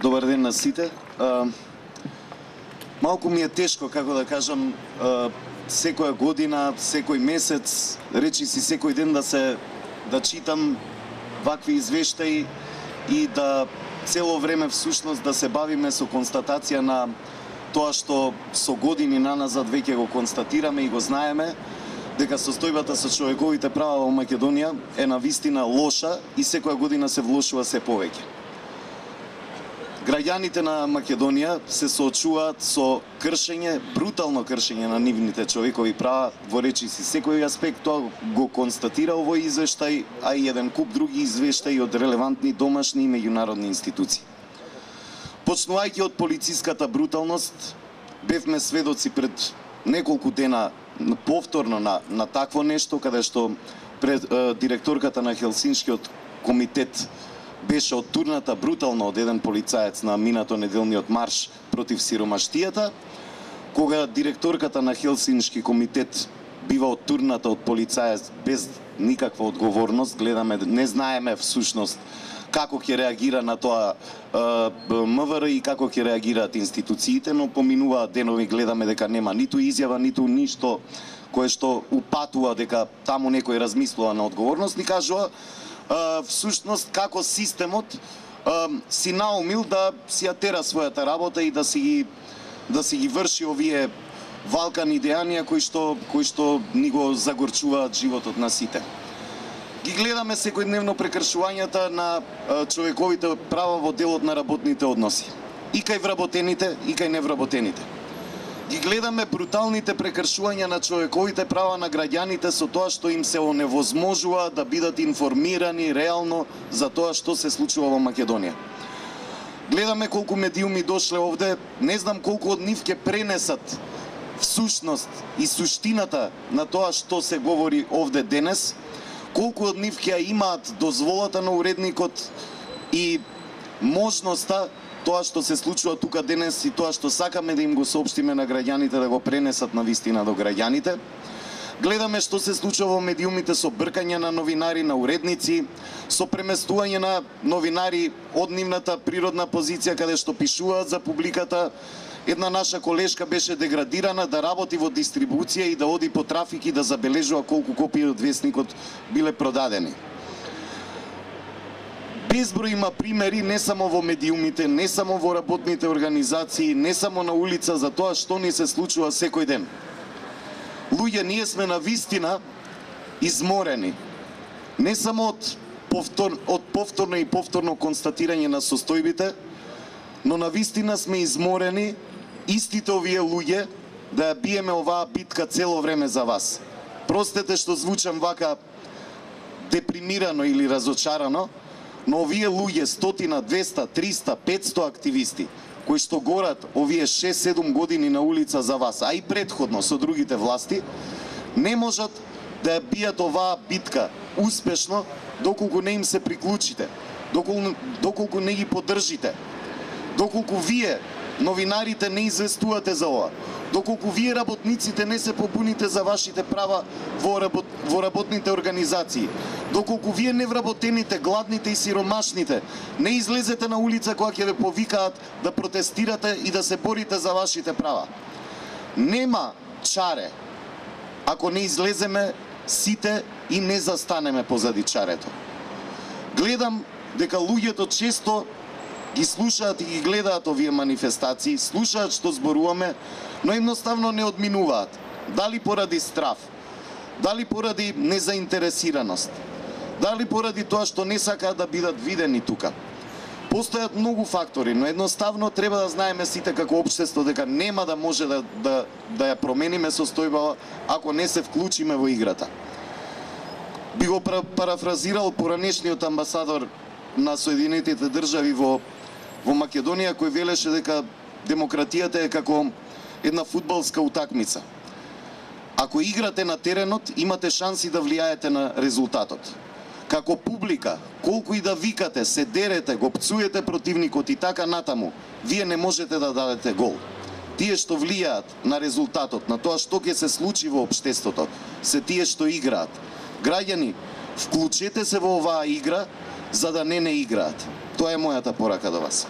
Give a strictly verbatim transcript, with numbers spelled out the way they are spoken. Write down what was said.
Добар ден на сите. А, малку ми е тешко, како да кажам, а, секоја година, секој месец, речи си секој ден да се да читам вакви извештаи и да цело време всушност да се бавиме со констатација на тоа што со години наназад веќе го констатираме и го знаеме, дека состојбата со човековите права во Македонија е навистина лоша и секоја година се влошува се повеќе. Граѓаните на Македонија се соочуваат со кршење, брутално кршење на нивните човекови права во речиси секој аспект. Тоа го констатира овој извештај, а и еден куп други извештаи од релевантни домашни и меѓународни институции. Почнувајќи од полициската бруталност, бевме сведоци пред неколку дена повторно на, на такво нешто, каде што пред е, директорката на Хелсиншкиот комитет беше оттурната брутално од еден полицаец на минато неделниот марш против сиромаштијата, кога директорката на Хелсиншки комитет бива оттурната од полицаец без никаква одговорност, гледаме, не знаеме всушност како ќе реагира на тоа МВР и како ќе реагираат институциите, но поминуваат денови, гледаме дека нема ниту изјава, ниту ништо кое што упатува дека таму некој размислува на одговорност, ни кажува всушност како системот си наумил да си ја тера својата работа и да си ги да си ги врши овие валкани дејанија кои што кои што ни го загорчуваат животот на сите. Ги гледаме секојдневно прекршувањата на човековите права во делот на работните односи. И кај вработените, и кај невработените. Ги гледаме бруталните прекршувања на човековите права на граѓаните со тоа што им се оневозможува да бидат информирани реално за тоа што се случува во Македонија. Гледаме колку медиуми дошле овде, не знам колку од нив ќе пренесат всушност и суштината на тоа што се говори овде денес, колку од нив ќе имаат дозволата на уредникот и можноста тоа што се случува тука денес и тоа што сакаме да им го соопштиме на граѓаните да го пренесат на вистина до граѓаните. Гледаме што се случува во медиумите со бркање на новинари, на уредници, со преместување на новинари од нивната природна позиција каде што пишуваат за публиката. Една наша колешка беше деградирана да работи во дистрибуција и да оди по трафик и да забележува колку копии од весникот биле продадени. Безброј има примери не само во медиумите, не само во работните организации, не само на улица за тоа што ни се случува секој ден. Луѓе, ние сме на вистина изморени. Не само од, повтор, од повторно и повторно констатирање на состојбите, но на вистина сме изморени истите овие луѓе да ја биеме оваа битка цело време за вас. Простете што звучам вака депримирано или разочарано, но овие луѓе, стотина, двеста, триста, петсто активисти, кои што горат овие шест-седум години на улица за вас, а и предходно со другите власти, не можат да ја бијат оваа битка успешно доколку не им се приклучите, доколку, доколку не ги поддржите, доколку вие, новинарите, не известувате за ова, доколку вие, работниците, не се побуните за вашите права во, работ... во работните организации, доколку вие, невработените, гладните и сиромашните, не излезете на улица кога ќе ве повикаат да протестирате и да се борите за вашите права. Нема чаре ако не излеземе сите и не застанеме позади чарето. Гледам дека луѓето често ги слушаат и ги гледаат овие манифестации, слушаат што зборуваме, но едноставно не одминуваат. Дали поради страв, дали поради незаинтересираност, дали поради тоа што не сакаат да бидат видени тука. Постојат многу фактори, но едноставно треба да знаеме сите како општество дека нема да може да, да, да ја промениме состојба ако не се вклучиме во играта. Би го парафразирал поранешниот амбасадор на Соединетите држави во во Македонија, кој велеше дека демократијата е како една фудбалска утакмица. Ако играте на теренот, имате шанси да влијаете на резултатот. Како публика, колку и да викате, се дерете, го пцуете противникот и така натаму, вие не можете да дадете гол. Тие што влијаат на резултатот, на тоа што ќе се случи во општеството, се тие што играат. Граѓани, вклучете се во оваа игра, за да не не играат. Тоа е мојата порака до вас.